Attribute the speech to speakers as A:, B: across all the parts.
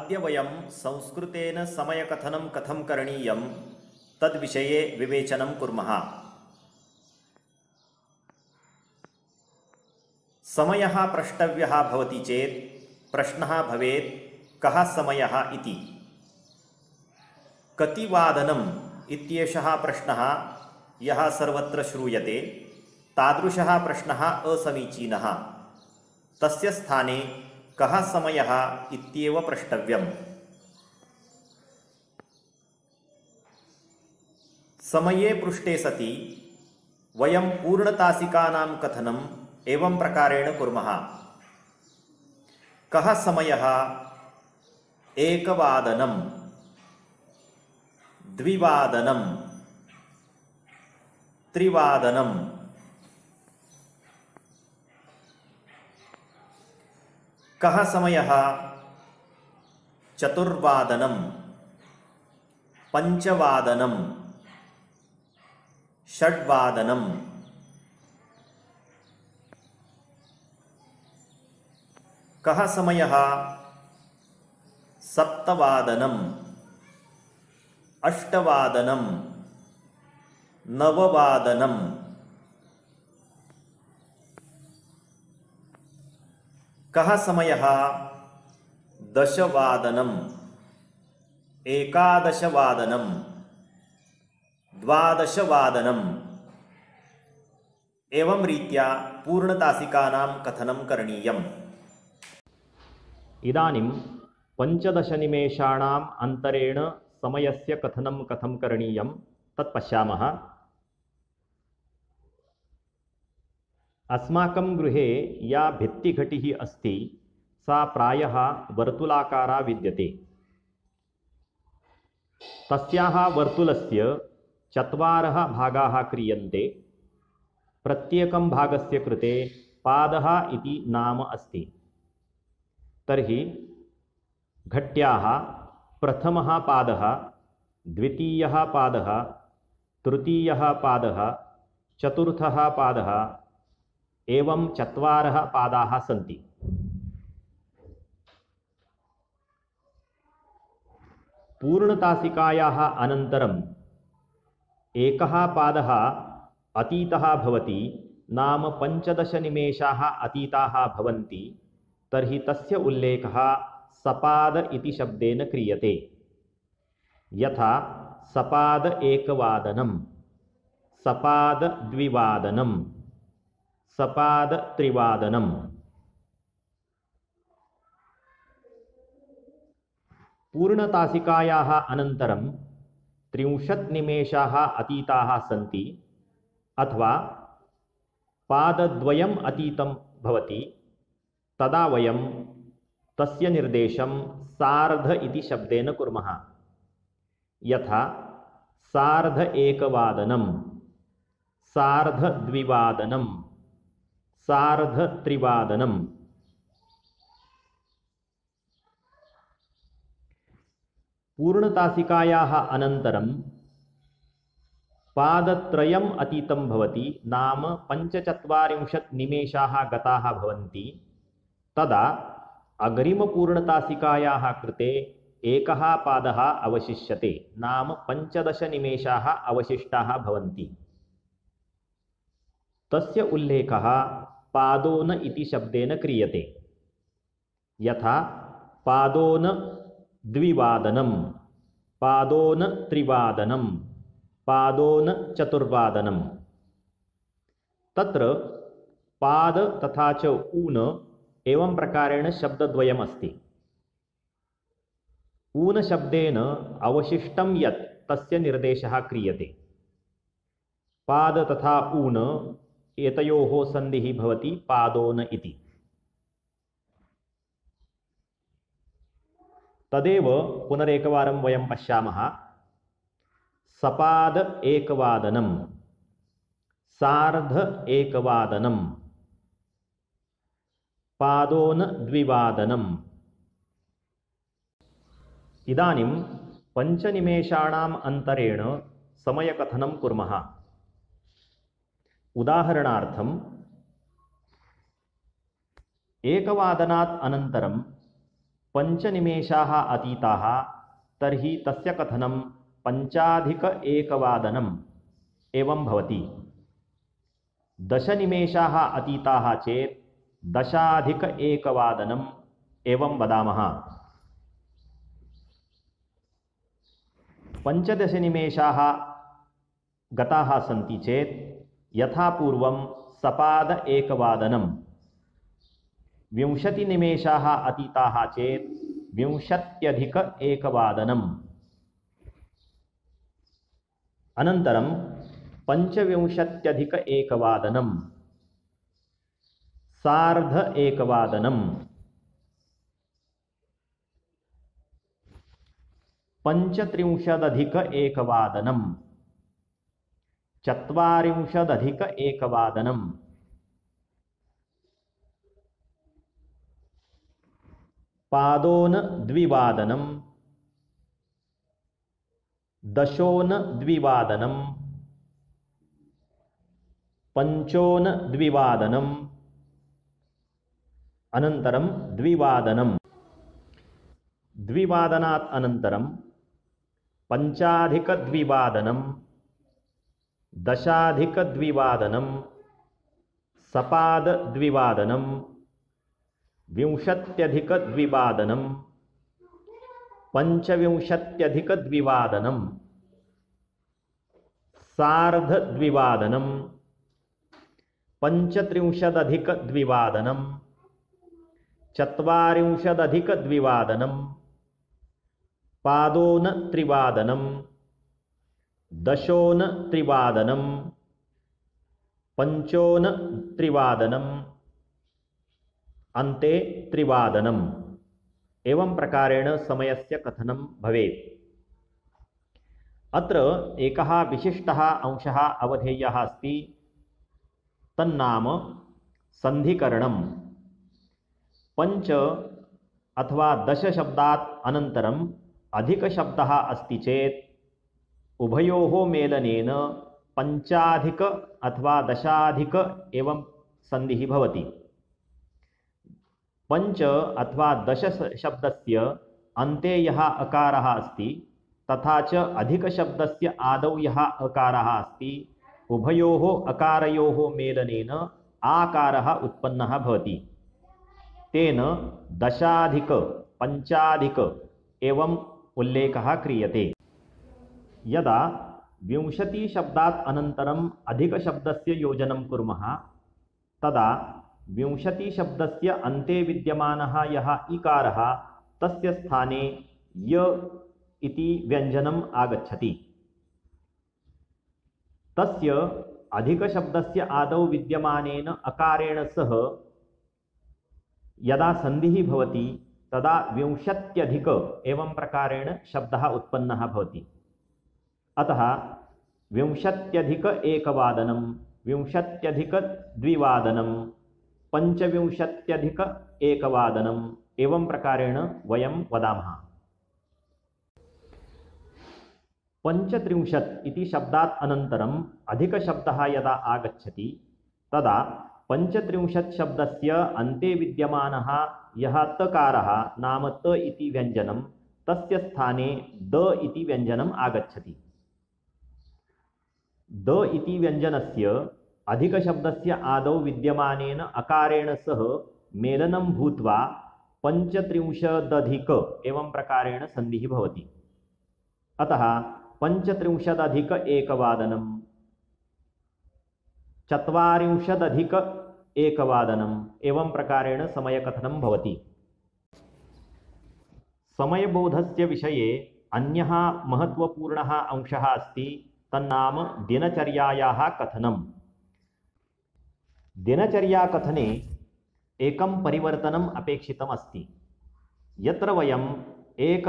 A: अद्य वयं संस्कृतेन समयकथनं कथं करणीयं तद्विषये विवेचनं कुर्मः। समयः प्रष्टव्यः भवति चेत् प्रश्नः भवेत् कः समयः इति। कति वादनम् इत्येषः प्रश्नः यः सर्वत्र श्रूयते तादृशः प्रश्नः असमीचीनः। तस्य स्थाने कः समयः इत्येव प्रष्टव्यम्। समये पृष्टे सति वयं पूर्णतासिकानां कथनम् एवं प्रकारेण कुर्मः। कः समयः? एकवादनं, द्विवादनं, त्रिवादनं। कः समयः? चतुर्वादनं, पञ्चवादनं, षड्वादनं। कः समयः? सप्तवादनं, अष्टवादनं, नववादनं। कः समयः? दशवादनं, एकादशवादनं, द्वादशवादनम्। एवं रीत्या पूर्णतासिकानां कथनं करणीयम्।
B: इदानीं 15 निमेषाणाम् अन्तरेण समयस्य कथनं कथं करणीयं तत् पश्यामः। अस्माकं गृहे या भित्तिघटिः अस्ति सा प्रायः वर्तुलाकारा विद्यते। तस्याः वर्तुलस्य 4 भागाः क्रियन्ते। प्रत्येकं भागस्य कृते पादः इति नाम अस्ति। तर्हि घट्याः प्रथमः पादः, द्वितीयः पादः, तृतीयः पादः, चतुर्थः पादः एवं 4 पादाः सन्ति। पूर्णतासिकायाः अनन्तरम् एकः पादः अतीतः भवति, नाम 15 निमेषाः अतीताः भवन्ति। तर्हि तस्य उल्लेखः सपाद इति शब्देन क्रियते। यथा सपाद एकवादनं, सपाद द्विवादनं, सपाद त्रिवादनं। पूर्णतासिकायाः अनन्तरं 30 निमेषाः अतीताः सन्ति अथवा पादद्वयम् अतीतं भवति, तदा वयं तस्य निर्देशं सार्ध इति शब्देन कुर्मः। यथा सार्ध एकवादनं, सार्ध द्विवादनं, सार्ध त्रिवादनं। पूर्णतासिकायाः अनन्तरं पादत्रयम् अतीतं भवति, नाम 45 निमेषाः गताः भवन्ति। तदा अग्रिमपूर्णतासिकायाः कृते एकः पादः अवशिष्यते, नाम 15 निमेषाः अवशिष्टाः भवन्ति। तस्य उल्लेखः पादोन इति शब्देन क्रियते। यथा पादोन द्विवादनं, पादोन त्रिवादनं, पादोन चतुर्वादनं। तत्र पाद तथा च ऊन एवं प्रकारेण शब्दद्वयम् अस्ति। ऊन शब्देन अवशिष्टं यत् तस्य निर्देशः क्रियते। पाद तथा ऊन एतयोः सन्धिः भवति पादोन इति। तदेव पुनरेकवारं वयं पश्यामः। सपाद एकवादनं, सार्ध एकवादनं, पादोन द्विवादनम्। इदानीं 5 निमेषाणाम् अन्तरेण समयकथनं कुर्मः। उदाहरणार्थं एकवादनात् अनन्तरं पञ्चनिमेषाः अतीताः तर्हि तस्य कथनं 5+1 एवं भवति। 10 निमेषाः अतीताः चेत् 10+1 एवं वदामः। 15 निमेषाः गताः सन्ति चेत् यथा पूर्वं सपाद 1 20 निमेषाः अतीताः चेत् 20+1 अनन्तरं 25+1 सार्ध 1 35+1 40+1 पादोन-2 दशोन-2 पंचोन-2 अनन्तरं 2 द्विवादनात् अनन्तरं 5+2 10+2 सपाद 2 20+2 25+2 सार्ध 2 35+2 40+2 पादोन-3 दशोन-3 पंचोन-3 अन्ते 3 एवं प्रकारेण समयस्य कथनं भवेत्। अत्र एकः विशिष्टः अंशः अवधेयः अस्ति, तन्नाम सन्धिकरणं। 5 अथवा 10 शब्दात् अनन्तरम् अधिकशब्दः अस्ति चेत् उभयोः मेलनेन 5+ अथवा 10+ एवं सन्धिः भवति। 5 अथवा 10 शब्दस्य अन्ते यः अकारः अस्ति तथा च अधिकशब्दस्य आदौ यः अकारः अस्ति, उभयोः अकारयोः मेलनेन आकारः उत्पन्नः भवति। तेन 10+5+ एवं उल्लेखः क्रियते। यदा 20 शब्दात् अनन्तरम् अधिकशब्दस्य योजनं कुर्मः तदा 20 शब्दस्य अन्ते विद्यमानः यः इकारः तस्य स्थाने य इति व्यञ्जनम् आगच्छति। तस्य अधिकशब्दस्य आदौ विद्यमानेन अकारेण सह यदा सन्धिः भवति तदा 20+ एवं प्रकारेण शब्दः उत्पन्नः भवति। अतः 20+1 20+2 25+1 एवं प्रकारेण वयं वदामः। 35 इति शब्दात् अनन्तरम् अधिकशब्दः यदा आगच्छति तदा 35 शब्दस्य अन्ते विद्यमानः यः तकारः नाम त इति व्यञ्जनं तस्य स्थाने द इति व्यञ्जनम् आगच्छति। द इति व्यञ्जनस्य अधिकशब्दस्य आदौ विद्यमानेन अकारेण सह मेलनं भूत्वा 35+ एवं प्रकारेण सन्धिः भवति। अतः 35+1 40+1 एवं प्रकारेण समयकथनं भवति। समयबोधस्य विषये अन्यः महत्वपूर्णः अंशः अस्ति, तन्नाम दिनचर्यायाः कथनम्। दिनचर्याकथने एकं परिवर्तनम् अपेक्षितम् अस्ति। यत्र वयम् 1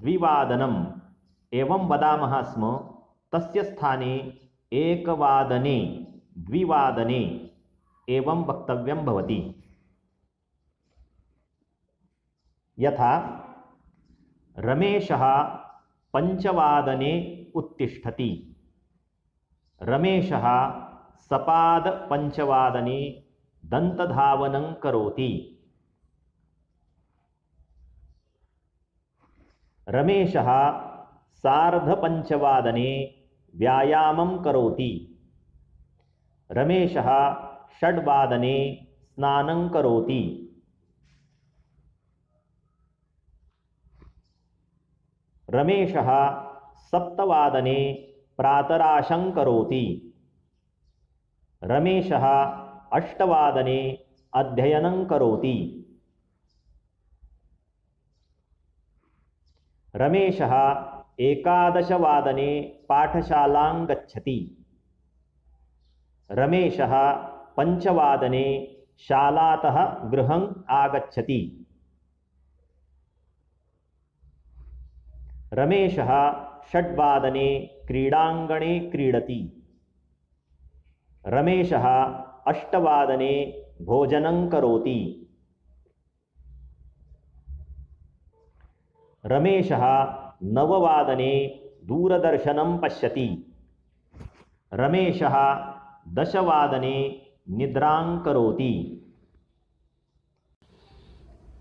B: 2 एवं वदामः स्म तस्य स्थाने 1 2 एवं वक्तव्यं भवति। यथा रमेशः 5 उत्तिष्ठति, रमेशः सपाद 5 दन्तधावनं करोति। रमेशः सार्धपञ्चवादने व्यायामं करोति। रमेशः षड्वादने स्नानं करोति। रमेशः सप्तवादने प्रातराशं करोति। रमेशः अष्टवादने अध्ययनं करोति। रमेशः एकादशवादने पाठशालां गच्छति। रमेशः पञ्चवादने शालातः गृहम् आगच्छति। रमेशः षड्वादने क्रीडाङ्गणे क्रीडति। रमेशः अष्टवादने भोजनं करोति। रमेशः नववादने दूरदर्शनं पश्यति। रमेशः दशवादने निद्रां करोति।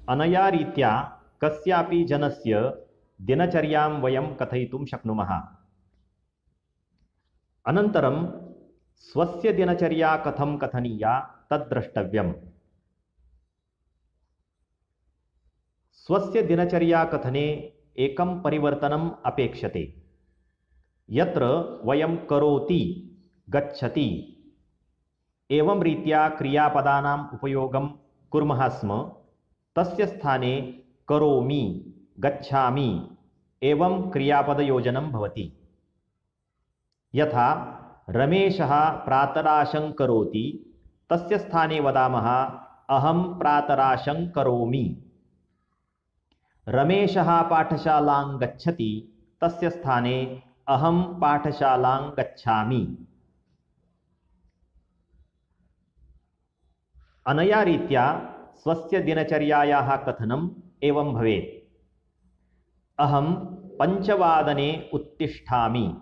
B: अनया रीत्या कस्यापि जनस्य दिनचर्यां वयं कथयितुं शक्नुमः। अनन्तरं स्वस्य दिनचर्या कथं कथनीया तद् द्रष्टव्यम्। स्वस्य दिनचर्या कथने एकं परिवर्तनम् अपेक्षते। यत्र वयं करोति, गच्छति एवं रीत्या क्रियापदानाम् उपयोगं कुर्मः स्म, तस्य स्थाने करोमि, गच्छामि एवं क्रियापदयोजनं भवति। यथा रमेशः प्रातराशं करोति, तस्य स्थाने वदामः अहं प्रातराशं करोमि। रमेशः पाठशालां गच्छति, तस्य स्थाने अहं पाठशालां गच्छामि। अनया रीत्या स्वस्य दिनचर्यायाः कथनम् एवं भवेत्। अहं पञ्चवादने उत्तिष्ठामि।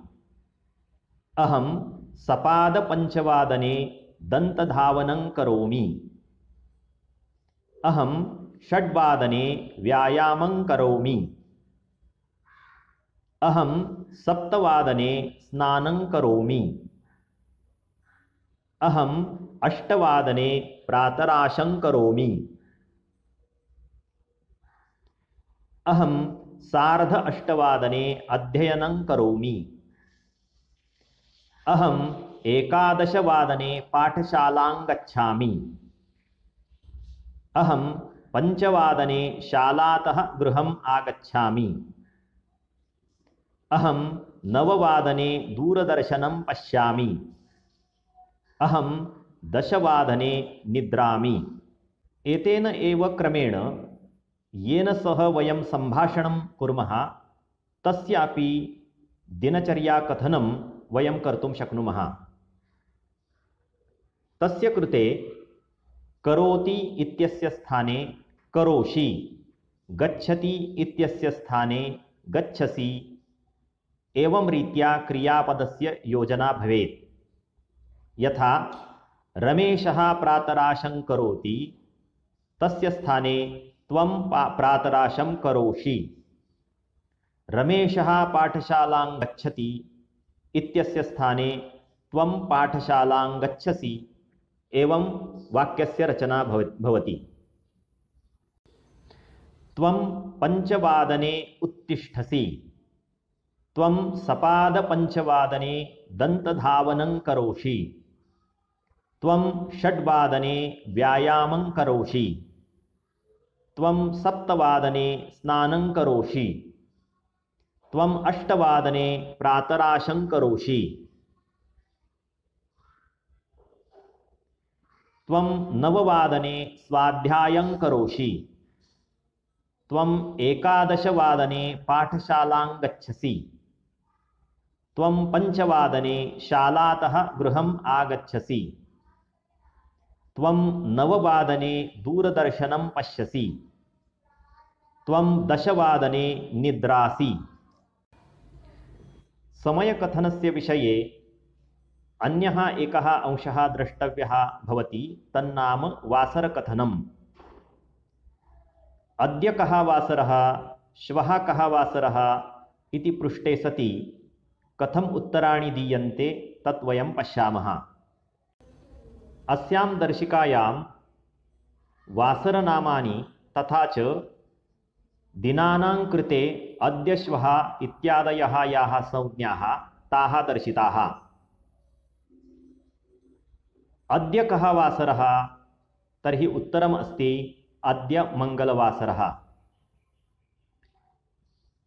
B: अहं सपादपञ्चवादने दन्तधावनं करोमि। अहं षड्वादने व्यायामं करोमि। अहं सप्तवादने स्नानं करोमि। अहं अष्टवादने प्रातराशं करोमि। अहं सार्ध अष्टवादने अध्ययनं करोमि। अहम् एकादशवादने पाठशालां गच्छामि। अहं पञ्चवादने शालातः गृहम् आगच्छामि। अहं नववादने दूरदर्शनं पश्यामि। अहं दशवादने निद्रामि। एतेन एव क्रमेण येन सह वयं सम्भाषणं कुर्मः तस्यापि दिनचर्या कथनं वयं कर्तुं शक्नुमः। तस्य कृते करोति इत्यस्य स्थाने करोषि, गच्छति इत्यस्य स्थाने गच्छसि एवं रीत्या क्रियापदस्य योजना भवेत्। यथा रमेशः प्रातराशं करोति, तस्य स्थाने त्वं प्रातराशं करोषि। रमेशः पाठशालां गच्छति इत्यस्य स्थाने त्वं पाठशालां गच्छसि एवं वाक्यस्य रचना भवति। त्वं पञ्चवादने उत्तिष्ठसि। त्वं सपादपञ्चवादने दन्तधावनं करोषि। त्वं षड्वादने व्यायामं करोषि। त्वं सप्तवादने स्नानं करोषि। त्वं अष्टवादने प्रातराशं करोषि। त्वं नववादने स्वाध्यायं करोषि। त्वं एकादशवादने पाठशालां गच्छसि। त्वं पञ्चवादने शालातः गृहम् आगच्छसि। त्वं नववादने दूरदर्शनं पश्यसि। त्वं दशवादने निद्रासि। समयकथनस्य विषये अन्यः एकः अंशः द्रष्टव्यः भवति, तन्नाम वासरकथनम्। अद्य कः वासरः, श्वः कः वासरः इति पृष्टे सति कथम् उत्तराणि दीयन्ते तत् वयं पश्यामः। अस्यां दर्शिकायां वासरनामानि तथा च दिनानां कृते अद्य श्वः इत्यादयः याः संज्ञाः ताः दर्शिताः। अद्य कः वासरः तर्हि उत्तरम् अस्ति अद्य मङ्गलवासरः।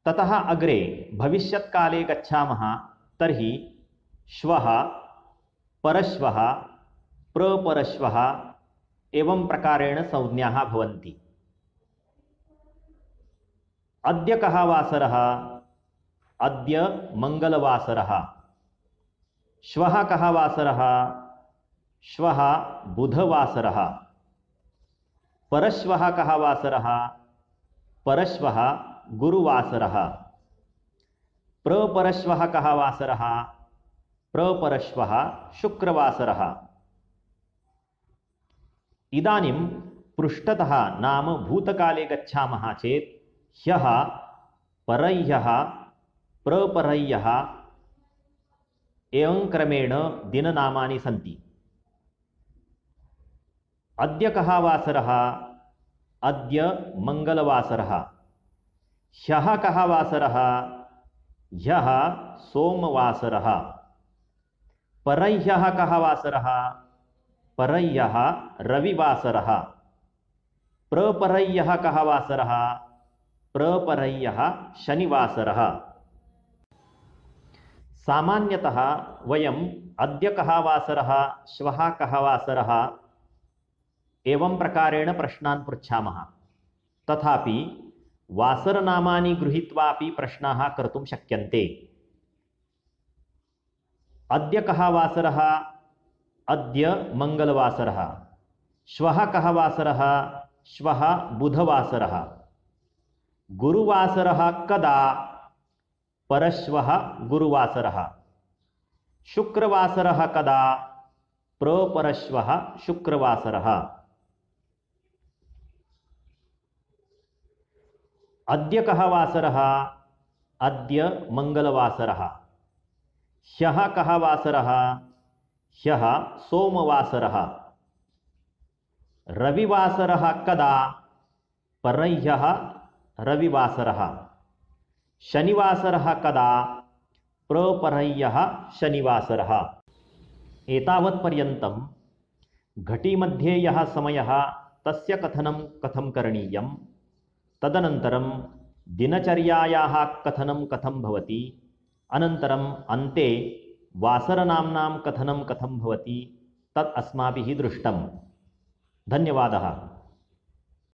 B: ततः अग्रे भविष्यत्काले गच्छामः तर्हि श्वः, परश्वः, प्रपरश्वः एवं प्रकारेण संज्ञाः भवन्ति। अद्य कः वासरः? अद्य मङ्गलवासरः। श्वः कः वासरः? श्वः बुधवासरः। परश्वः कः वासरः? परश्वः गुरुवासरः। प्रपरश्वः कः वासरः? प्रपरश्वः शुक्रवासरः। इदानीं पृष्ठतः नाम भूतकाले गच्छामः चेत् ह्यः, परह्यः, प्रपरह्यः एवं क्रमेण दिननामानि सन्ति। अद्य कः वासरः? अद्य मङ्गलवासरः। ह्यः कः वासरः? ह्यः सोमवासरः। परह्यः कः वासरः? परह्यः रविवासरः। प्रपरह्यः कः वासरः? प्रपरह्यः शनिवासरः। सामान्यतः वयम् अद्य कः वासरः, श्वः कः वासरः एवं प्रकारेण प्रश्नान् पृच्छामः। तथापि वासरनामानि गृहीत्वापि प्रश्नाः कर्तुं शक्यन्ते। अद्य कः वासरः? अद्य मङ्गलवासरः। श्वः कः वासरः? श्वः बुधवासरः। गुरुवासरः कदा? परश्वः गुरुवासरः। शुक्रवासरः कदा? प्रपरश्वः शुक्रवासरः। अद्य कः वासरः? अद्य मङ्गलवासरः। ह्यः कः वासरः? ह्यः सोमवासरः। रविवासरः कदा? परह्यः रविवासरः। शनिवासरः कदा? प्रपरह्यः शनिवासरः। एतावत्पर्यन्तं घटीमध्ये यः समयः तस्य कथनं कथं करणीयं, तदनन्तरं दिनचर्यायाः कथनं कथं भवति, अनन्तरम् अन्ते वासरनाम्नां कथनं कथं भवति तत् अस्माभिः दृष्टं। धन्यवादः।